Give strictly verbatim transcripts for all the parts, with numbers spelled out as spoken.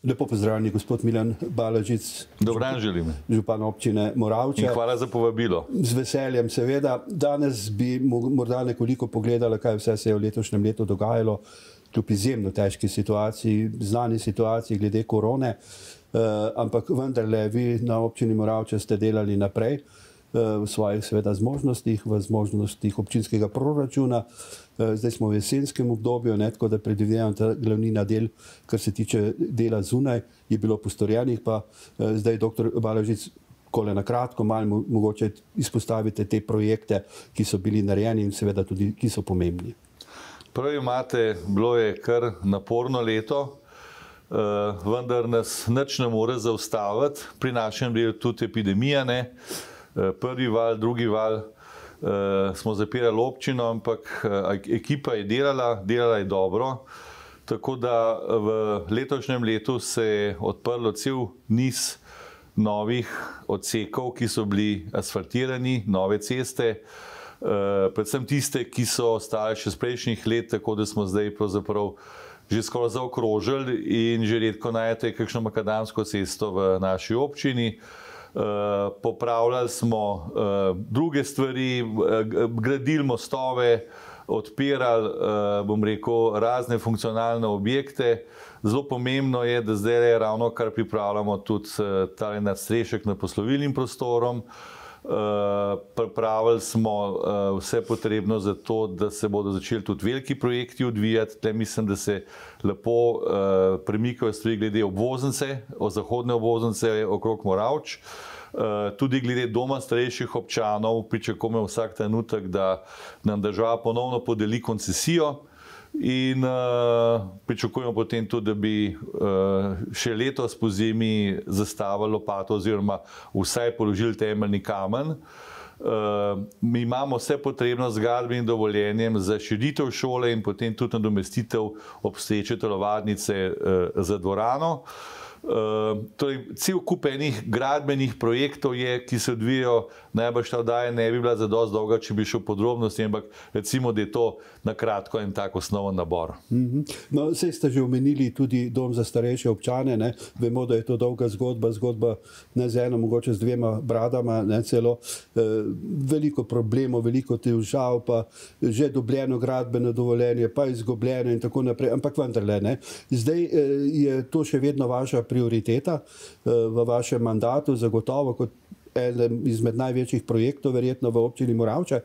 Lepo pozdravljeni, gospod Milan Balažic. Dober dan želim. Župan občine Moravče. In hvala za povabilo. Z veseljem, seveda. Danes bi morda nekoliko pogledala, kaj vse se je v letošnjem letu dogajalo, kljub izjemno težki situaciji, znani situaciji glede korone, ampak vendarle vi na občini Moravče ste delali naprej v svojih seveda zmožnostih, v zmožnostih občinskega proračuna. Zdaj smo v jesenskem obdobju, ne, tako da predvidevam ta glavnina del, kar se tiče dela zunaj, je bilo postorjenih, pa zdaj doktor Balažic, kole na kratko, malo mogoče izpostavite te projekte, ki so bili narejeni in seveda tudi, ki so pomembni. Prav imate, bilo je kar naporno leto, vendar nas nič ne more zaustaviti, pri našem delu tudi epidemija, ne. Prvi val, drugi val, uh, smo zapirali občino, ampak uh, ekipa je delala, delala je dobro, tako da v letošnjem letu se je odprlo cel niz novih odsekov, ki so bili asfaltirani, nove ceste, uh, predvsem tiste, ki so ostale še z prejšnjih let, tako da smo zdaj pravzaprav že skoraj zaokrožili in že redko najdete kakšno makadamsko cesto v naši občini. Uh, popravljali smo uh, druge stvari, uh, gradili mostove, odpirali, uh, bom rekel, razne funkcionalne objekte. Zelo pomembno je, da zdaj je ravno kar pripravljamo tudi uh, ta nadstrešek nad poslovilnim prostorom. Uh, pripravili smo uh, vse potrebno za to, da se bodo začeli tudi veliki projekti odvijati. Tle mislim, da se lepo uh, premikajo stvari glede obvoznice, o zahodne obvoznice okrog Moravč. Uh, tudi glede doma starejših občanov pričakujemo vsak trenutek, da nam država ponovno podeli koncesijo in uh, pričakujemo potem tudi, da bi uh, še letos pozimi zastavili lopato oziroma vsaj položili temeljni kamen. Uh, mi imamo vse potrebno z gradbenim dovoljenjem za širitev šole in potem tudi nadomestitev obstoječe telovadnice uh, za dvorano. Uh, torej, cel kup enih gradbenih projektov je, ki se odvijajo, najbrž ta oddaja ne bi bila zadosti dolga, če bi šel v podrobnosti, ampak recimo, da je to na kratko en tak osnoven nabor. Mm-hmm. No, saj ste že omenili tudi dom za starejše občane, ne? Vemo, da je to dolga zgodba, zgodba ne z eno, mogoče z dvema bradama, ne celo. E, veliko problemov, veliko težav, pa že dobljeno gradbeno dovoljenje, pa izgubljeno in tako naprej, ampak vendarle, ne. Zdaj e, je to še vedno vaša prioriteta v vašem mandatu, zagotovo kot eden izmed največjih projektov, verjetno v občini Moravče.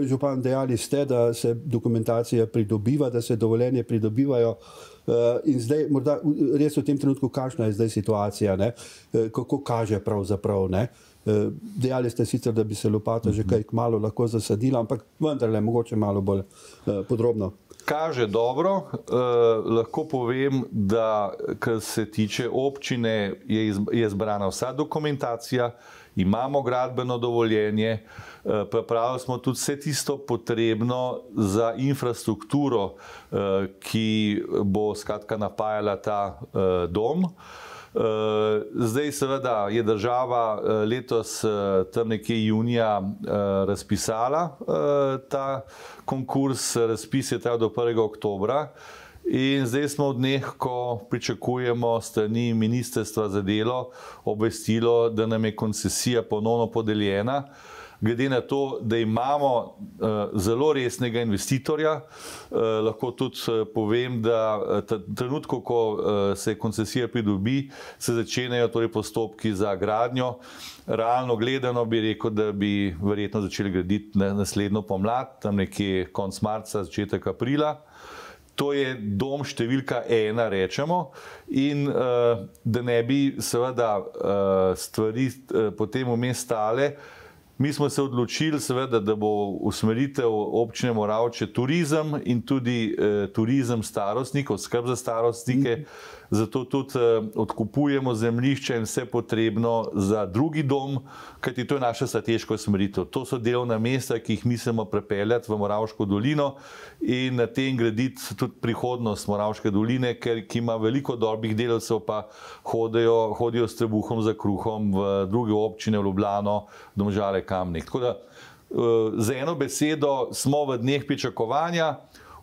Župan, dejali ste, da se dokumentacija pridobiva, da se dovoljenje pridobivajo in zdaj morda res v tem trenutku, kakšna je zdaj situacija, ne? Kako kaže pravzaprav, ne? Dejali ste sicer, da bi se lopata že kaj kmalu lahko zasadila, ampak vendarle mogoče malo bolj podrobno. Kaže dobro, eh, lahko povem, da kar se tiče občine, je, iz, je zbrana vsa dokumentacija, imamo gradbeno dovoljenje, eh, pripravili smo tudi vse tisto potrebno za infrastrukturo, eh, ki bo skratka napajala ta eh, dom. Zdaj seveda je država letos tam nekje junija razpisala ta konkurs, razpis je trajal do prvega oktobra in zdaj smo v dneh, ko pričakujemo strani Ministrstva za delo obvestilo, da nam je koncesija ponovno podeljena. Glede na to, da imamo uh, zelo resnega investitorja, uh, lahko tudi uh, povem, da uh, trenutku, ko uh, se koncesija pridobi, se začenjajo torej postopki za gradnjo. Realno gledano bi rekel, da bi verjetno začeli graditi na, naslednjo pomlad, tam nekje konec marca, začetek aprila. To je dom številka ena, rečemo, in uh, da ne bi seveda uh, stvari uh, potem vmes stale. Mi smo se odločili, seveda, da bo usmeritev občine Moravče turizem in tudi eh, turizem starostnikov, skrb za starostnike, zato tudi eh, odkupujemo zemljišče in vse potrebno za drugi dom, kajti to je naša strateška usmeritev. To so delovna mesta, ki jih mislimo prepeljati v Moravško dolino in na tem graditi tudi prihodnost Moravške doline, ker ki ima veliko dobrih delavcev, pa hodijo, hodijo s trebuhom za kruhom v druge občine, v Ljubljano, Domžale, Kamnik. Tako da z eno besedo smo v dneh pričakovanja,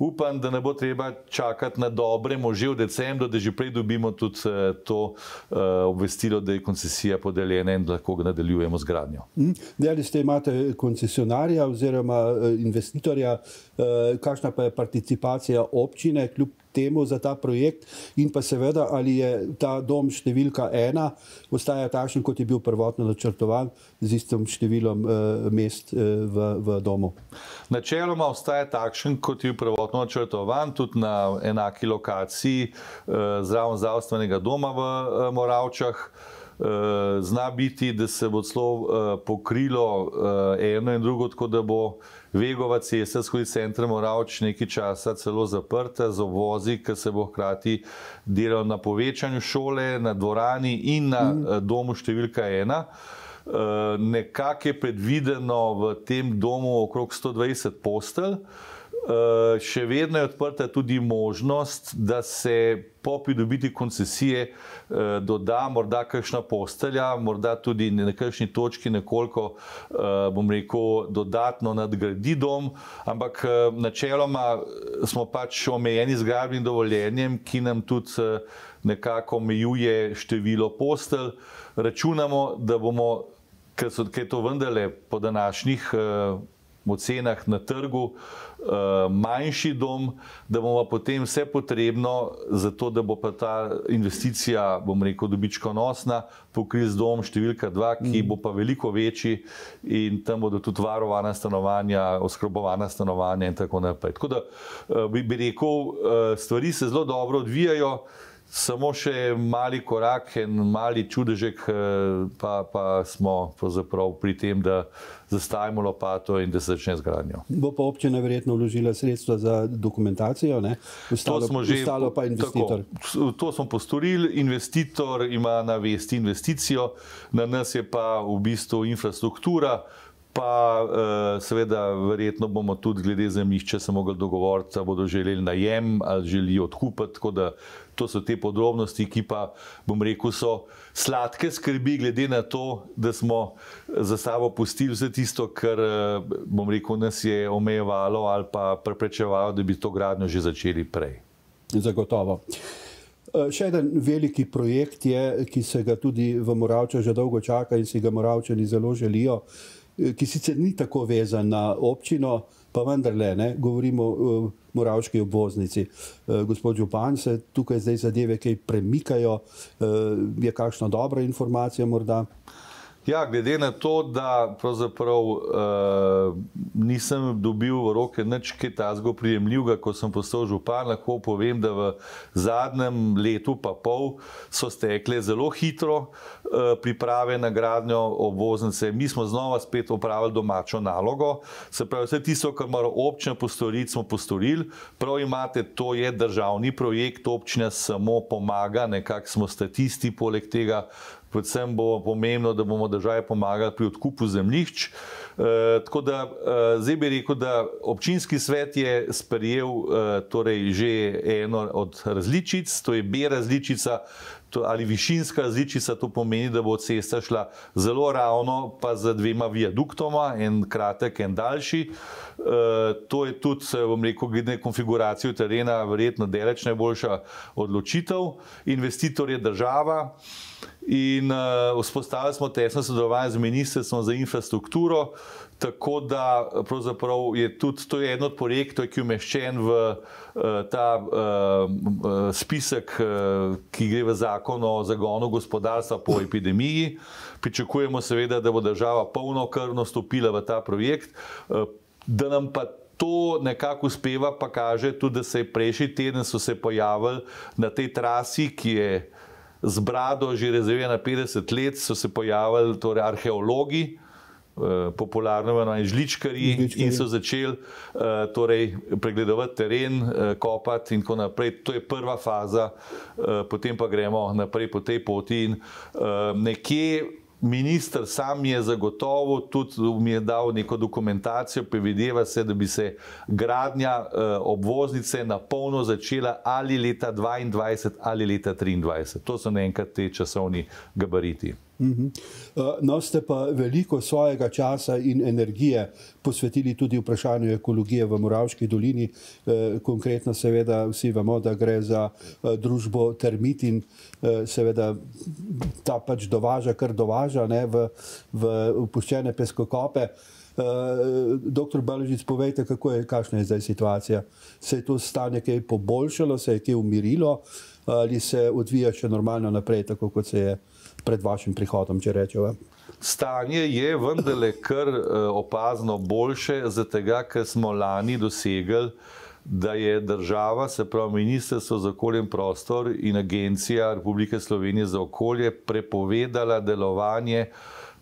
upam, da ne bo treba čakati na dobre može v decembru, da že prej dobimo tudi to obvestilo, da je koncesija podeljena in da lahko nadaljujemo z gradnjo. Dejali ste, imate koncesionarja oziroma investitorja, kakšna pa je participacija občine kljub temu za ta projekt in pa seveda, ali je ta dom številka ena ostaja takšen, kot je bil prvotno načrtovan z istim številom mest v, v domu? Načeloma ostaja takšen, kot je bil prvotno načrtovan, tudi na enaki lokaciji zraven zdravstvenega doma v Moravčah. Zna biti, da se bo celo pokrilo eno in drugo, tako da bo Vegova cesta skozi center Moravč nekaj časa celo zaprta z obvozi, ker se bo hkrati delal na povečanju šole, na dvorani in na domu številka ena. Nekako je predvideno v tem domu okrog sto dvajset postelj. Še vedno je odprta tudi možnost, da se po pridobitvi koncesije doda morda kakšna postelja, morda tudi na kakšni točki nekoliko, bom rekel, dodatno nadgradi dom, ampak načeloma smo pač omejeni z gradbenim dovoljenjem, ki nam tudi nekako omejuje število postelj. Računamo, da bomo, ker je to vendarle po današnjih ocenah na trgu manjši dom, da bomo potem vse potrebno za to, da bo pa ta investicija, bom rekel, dobičkonosna, pokrit dom številka dva, ki bo pa veliko večji in tam bodo tudi varovana stanovanja, oskrbovana stanovanja in tako naprej. Tako da bi rekel, stvari se zelo dobro odvijajo, samo še mali korak, en mali čudežek, pa, pa smo pravzaprav pri tem, da zastavimo lopato in da se začne z gradnjo. Bo pa občina verjetno vložila sredstva za dokumentacijo, ne? Ostalo, že, ostalo pa investitor. Tako, to smo postorili, investitor ima na vesti investicijo, na nas je pa v bistvu infrastruktura, pa seveda verjetno bomo tudi glede zemljišča se mogli dogovoriti, da bodo želeli najem ali želijo odkupiti, tako da to so te podrobnosti, ki pa, bom rekel, so sladke skrbi glede na to, da smo za sabo pustili vse tisto, kar, bom rekel, nas je omejevalo ali pa preprečevalo, da bi to gradnjo že začeli prej. Zagotovo. Še eden veliki projekt je, ki se ga tudi v Moravčah že dolgo čaka in si ga Moravčani zelo želijo, ki sicer ni tako vezan na občino, pa vendarle, ne, govorimo o moravški obvoznici. Gospod župan, se tukaj zdaj zadeve kaj premikajo, je kakšna dobra informacija morda? Ja, glede na to, da pravzaprav uh, nisem dobil v roke nič kaj takega prijemljivega, ko sem postal župan, lahko povem, da v zadnjem letu pa pol so stekle zelo hitro uh, priprave na gradnjo obvoznice. Mi smo znova spet opravili domačo nalogo, se pravi, vse tisto, kar mora občina postoriti, smo postorili. Prav imate, to je državni projekt, občina samo pomaga, nekako smo statisti poleg tega. Predvsem bo pomembno, da bomo državi pomagali pri odkupu zemljišč. E, tako da e, zdaj bi rekel, da občinski svet je sprejel e, torej že eno od različic, to je B različica to, ali višinska različica, to pomeni, da bo cesta šla zelo ravno, pa z dvema viaduktoma, en kratek, en daljši. E, to je tudi, bom rekel, glede konfiguracijo terena verjetno daleč najboljša odločitev. Investitor je država. In uh, vzpostavili smo tesno sodelovanje z Ministrstvom za infrastrukturo, tako da pravzaprav je tudi to je eden od projektov, ki je umeščen v uh, ta uh, spisek, uh, ki gre v zakon o zagonu gospodarstva po epidemiji. Pričakujemo seveda, da bo država polnokrvno stopila v ta projekt, uh, da nam pa to nekako uspeva, pa kaže tudi, da se je prejšnji teden so se pojavili na tej trasi, ki je z brado že rezervirana petdeset let, so se pojavili torej arheologi, popularno imenovani žličkarji, in so začeli torej pregledovati teren, kopati in tako naprej. To je prva faza, potem pa gremo naprej po tej poti in nekje minister sam je zagotovo, tudi mi je dal neko dokumentacijo, predvideva se, da bi se gradnja obvoznice na polno začela ali leta dvaindvajset ali leta triindvajset. To so naenkrat te časovni gabariti. No, ste pa veliko svojega časa in energije posvetili tudi vprašanju ekologije v Moravški dolini. Konkretno seveda vsi vemo, da gre za družbo Termit in seveda ta pač dovaža, kar dovaža ne, v, v opuščene peskokope. Doktor Balažic, povejte, kako je, kakšna je zdaj situacija? Se je to stanje kaj poboljšalo, se je kaj umirilo ali se odvija še normalno naprej, tako kot se je pred vašim prihodom, če rečeva? Stanje je vendarle kar opazno boljše, zato ker smo lani dosegli, da je država, se pravi Ministrstvo za okolje in prostor in Agencija Republike Slovenije za okolje prepovedala delovanje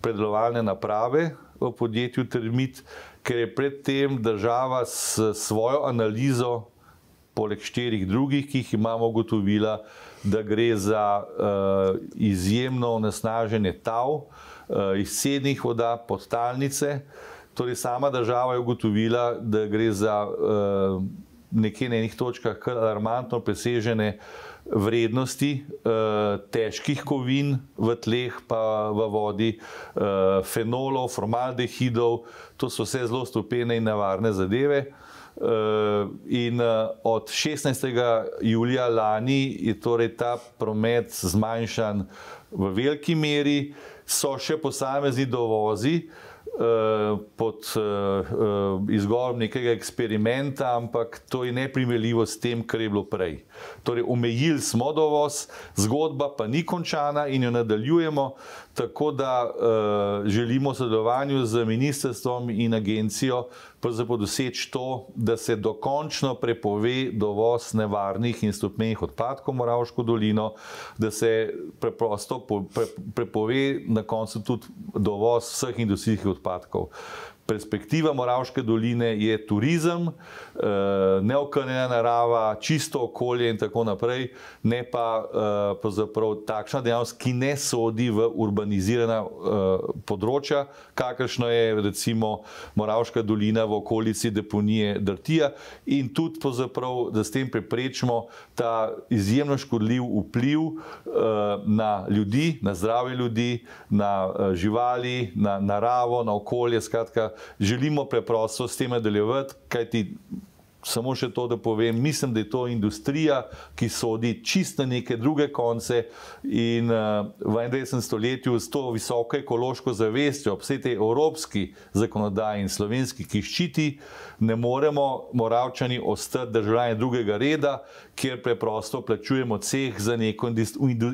predelovalne naprave v podjetju Termit, ker je predtem država s svojo analizo, poleg štirih drugih, ki jih imamo, ugotovila, da gre za uh, izjemno onesnaženje tal, uh, izcednih voda, podtalnice. Torej sama država je ugotovila, da gre za uh, nekje na enih točkah kar alarmantno presežene vrednosti uh, težkih kovin v tleh pa v vodi, uh, fenolov, formaldehidov, to so vse zelo strupene in nevarne zadeve. Uh, in uh, od šestnajstega julija lani je torej ta promet zmanjšan v veliki meri, so še posamezni dovozi uh, pod uh, uh, izgovorom nekega eksperimenta, ampak to je neprimerljivo s tem, kar je bilo prej. Torej, omejili smo dovoz, zgodba pa ni končana in jo nadaljujemo, tako da uh, želimo v sodelovanju z ministrstvom in agencijo pravzaprav doseči to, da se dokončno prepove dovoz nevarnih in strupmenih odpadkov v Moravško dolino, da se preprosto pre, prepove na koncu tudi dovoz vseh industrijskih odpadkov. Perspektiva Moravške doline je turizem, neokrnjena narava, čisto okolje in tako naprej, ne pa pravzaprav takšna dejavnost, ki ne sodi v urbanizirana področja, kakršno je recimo Moravška dolina v okolici deponije Drtija, in tudi pravzaprav, da s tem preprečimo ta izjemno škodljiv vpliv na ljudi, na zdravje ljudi, na živali, na naravo, na okolje, skratka, želimo preprosto s tem nadaljevati, kajti samo še to, da povem, mislim, da je to industrija, ki sodi čisto na neke druge konce in uh, v enaindvajsetem stoletju s to visoko ekološko zavestjo, ob vsej tej evropski zakonodaji in slovenski, ki ščiti, ne moremo Moravčani ostati državljani drugega reda, kjer preprosto plačujemo ceh za neko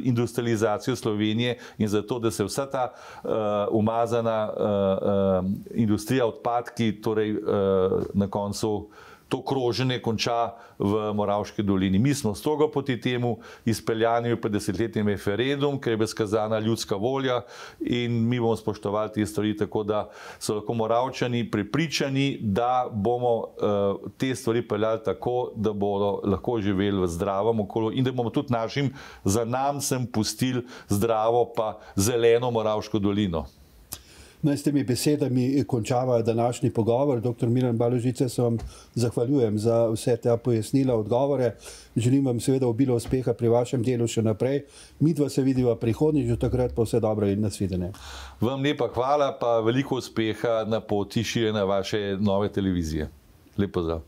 industrializacijo Slovenije in za to, da se vsa ta uh, umazana uh, uh, industrija odpadki, torej uh, na koncu to kroženje konča v Moravški dolini. Mi smo strogo proti temu, izpeljani pred desetletjem referendum, ker je bila skazana ljudska volja in mi bomo spoštovali te stvari, tako da so lahko Moravčani prepričani, da bomo uh, te stvari peljali tako, da bodo lahko živeli v zdravem okolju in da bomo tudi našim zanamcem pustili zdravo pa zeleno Moravško dolino. No, s temi besedami končava današnji pogovor. Doktor Milan Balažic, se vam zahvaljujem za vse te pojasnila, odgovore. Želim vam seveda obilo uspeha pri vašem delu še naprej. Midva se vidiva prihodnjič, do takrat pa vse dobro in nasvidenje. Vam lepa hvala, pa veliko uspeha na poti širjenja vaše nove televizije. Lep pozdrav.